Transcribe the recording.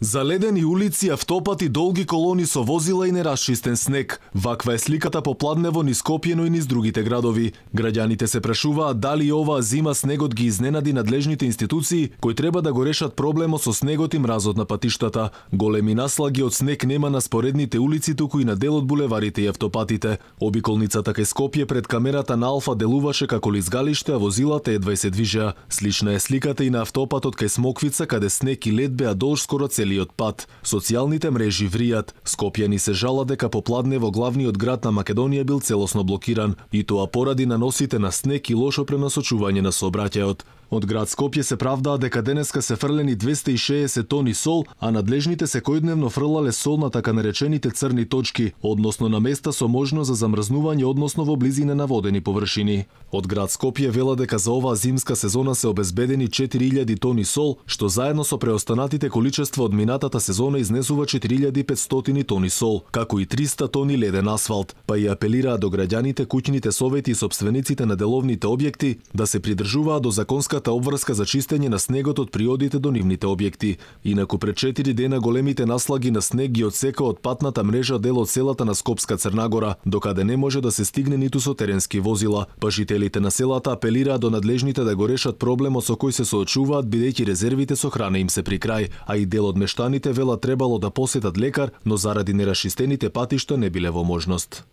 Заледени улици, автопати, долги колони со возила и нерасчистен снег. Ваква е сликата попладнево низ Скопје, но и низ другите градови. Граѓаните се прашуваат дали оваа зима снегот ги изненади надлежните институции кои треба да го решат проблемот со снегот и мразот на патиштата. Големи наслаги од снег нема на споредните улици, туку и на дел од булеварите и автопатите. Обиколницата кај Скопје пред камерата на Алфа делуваше како лизгалиште, а возилата едва се движеа. Слична е сликата и на автопатот кај Смоквица, каде снег и лед беа долж скоро целиот пат. Социјалните мрежи вријат. Скопјани се жала дека попладнево главниот град на Македонија бил целосно блокиран, и тоа поради наносите на снег и лошо пренасочување на сообраќајот. Од град Скопје се правдаа дека денеска се фрлени 260 тони сол, а надлежните секојдневно фрлале сол на така наречените црни точки, односно на места со можност за замрзнување, односно во близина на водени површини. Од град Скопје вела дека за оваа зимска сезона се обезбедени 4000 тони сол, што заедно со преостанатите количества од минатата сезона изнесува 4500 тони сол, како и 300 тони леден асфалт, па и апелираа до граѓаните, куќните совети и сопствениците на деловните објекти да се придржуваат до законска обврска за чистење на снегот од приодите до нивните објекти. Инаку пред 4 дена големите наслаги на снег ги отсека од патната мрежа дел од селата на Скопска Црнагора, докаде не може да се стигне ниту со теренски возила. Па жителите на селата апелираат до надлежните да го решат проблемот со кој се соочуваат, бидејќи резервите со храна им се при крај, а и дел од мештаните вела требало да посетат лекар, но заради нерашистените патишта не биле во можност.